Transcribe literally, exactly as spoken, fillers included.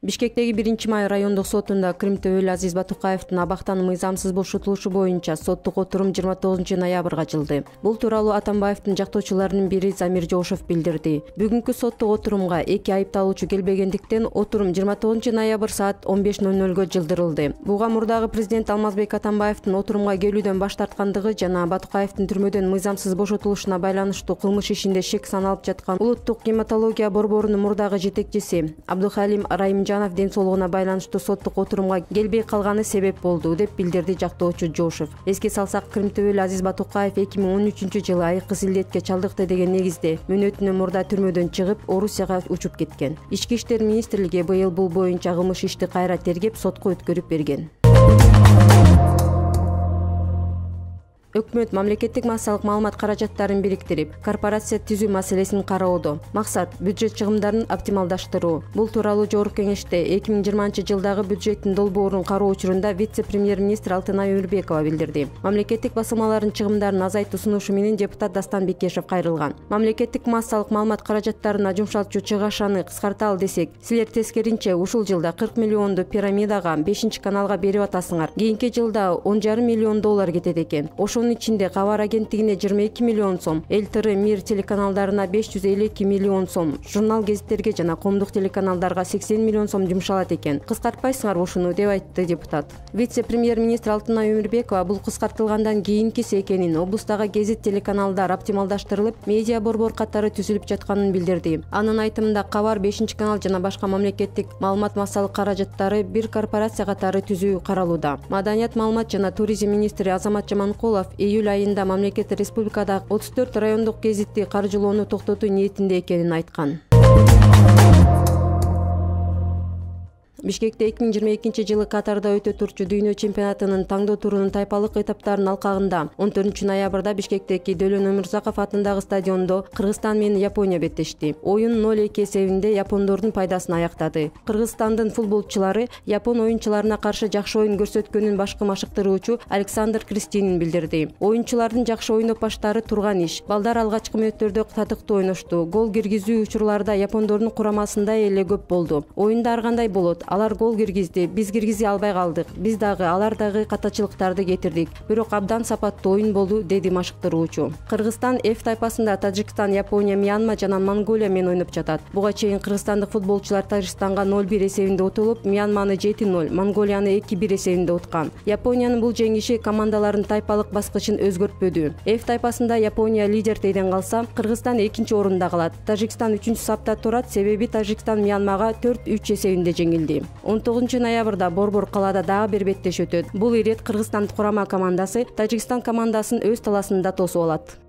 Бишкектеги биринчи май райондук сотунда Кырымтөбөлү Азиз Батукаевдин абактан мыйзамсыз бошотулушу боюнча соттук отурум жыйырма тогузунчу ноябрга ачылды. Бул тууралуу Атамбаевдин жактоочуларынын бири Замир Жошов билдирди. Бүгүнкү соттук отурумга эки айыпталуучу келбегендиктен отурум жыйырма тогузунчу ноябрь саат он беш ноль нольго жылдырылды. Буга мурдагы президент Алмазбек Атамбаевдин отурумга келүүдөн баш тарткандыгы жана Батукаевдин түрмөдөн мыйзамсыз бошотулушуна байланыштуу кылмыш ишинде шек саналып жаткан улуттук гематология борборунун мурдагы жетекчиси Абдухалим Райымжанов ден соолугуна байланыштуу соттук отурумга келбей калганы себеп болду деп билдирди жактоочу Жошов. Эске салсак, Кырымтөбөлү Азиз Батукаев эки миң он үчүнчү жылы айыккыс илдетке чалдыкты деген негизде мөөнөтүнөн мурда түрмөдөн чыгып, Орусияга учуп кеткен. Ички иштер министрлиги быйыл бул боюнча кылмыш ишти кайра тергеп, сотко өткөрүп берген. Өкмөт мамлекеттик массалык маалымат каражаттарын бириктирип, корпорация түзүү маселесин кароодо. Максат бюджет чыгымдарын оптималдаштыруу. Бул тууралуу Жогорку Кеңеште эки миң жыйырманчы жылдагы бюджеттин долбоорун кароо учурунда вице-премьер-министр Алтынай Өмүрбекова билдирди. Мамлекеттик басылмалардын чыгымдарын азайтуу сунушу менен депутат Дастан Бекешев кайрылган. Мамлекеттик массалык маалымат каражаттарына жумшалтчу чыгашаны кыскарталы десек, силер тескеринче ушул жылда кырк миллионду пирамидага, бешинчи каналга берип атасыңар. Кийинки жылда он жарым миллион доллар кетет экен. Ошонун ичинде Кабар агенттигине жыйырма эки миллион сом, Эл Тэ Эр, Мир телеканалдарына беш жүз элүү эки миллион сом, журнал гезиттерге жана коомдук телеканалдарга сексен миллион сом жумшалат экен. Кыскартпайсыңар ушуну, деп айтты депутат. Вице-премьер-министр Алтынай Өмүрбекова бул кыскартылгандан кийинкиси экенин, облустагы гезит телеканалдар оптималдаштырылып, медиа борбор катары түзүлүп жатканын билдирди. Анын айтымында Кабар, бешинчи канал жана башка мамлекеттик маалымат массалык каражаттары бир корпорация катары түзүү каралууда. Маданият, маалымат жана туризм министри Азамат Жаманкулов июль айында мамлекет республикада отуз төрт райондук гезитти каржылоону токтотуу ниетинде экенин айткан. Бишкекте эки миң жыйырма экинчи жылы Катарда өтө турчу дүйнө чемпионатынын таңдоо турунун тайпалык этаптарынын алкагында он төртүнчү ноябрда Бишкектеги Дөлөн Өмүрзаков атындагы стадиондо Кыргызстан менен Япония беттешти. Оюн ноль эки эсебинде япондордун пайдасына аяктады. Кыргызстандын футболчулары япон оюнчуларына каршы жакшы оюн көрсөткөнүн башкы машыктыруучу Александр Кристинин билдирди. Оюнчулардын жакшы ойноп баштары турган иш. Балдар алгачкы мүнөттөрдө татыктуу ойношту. Гол киргизүү учурларда япондордун курамасында эле көп болду. Оюнда ар кандай болот. Алар гол киргизди, биз киргизе албай калдык. Биз дагы, алар дагы катачылыктарды кетирдик. Бирок абдан сапаттуу оюн болду, деди машыктыруучу. Кыргызстан F тайпасында Тажикстан, Япония, Мьянма жана Монголия менен ойноп жатат. Буга чейин кыргызстандык футболчулар Тажикстанга ноль бир эсебинде утулуп, Мьянманы жети ноль, Монголияны эки бир эсебинде уткан. Япониянын бул жеңиши командалардын тайпалык баскычын өзгөртпөдү. F тайпасында Япония лидердейден калса, Кыргызстан экинчи орунда калат. Тажикстан үчүнчү сапта турат, себеби Тажикстан Мьянмага төрт үч эсебинде жеңилди. он тогузунчу ноябрда Борбор калаада дагы бир беттеш өтөт. Бул ирет Кыргызстан курама командасы Тажикстан командасын өз таласында тосуп алат.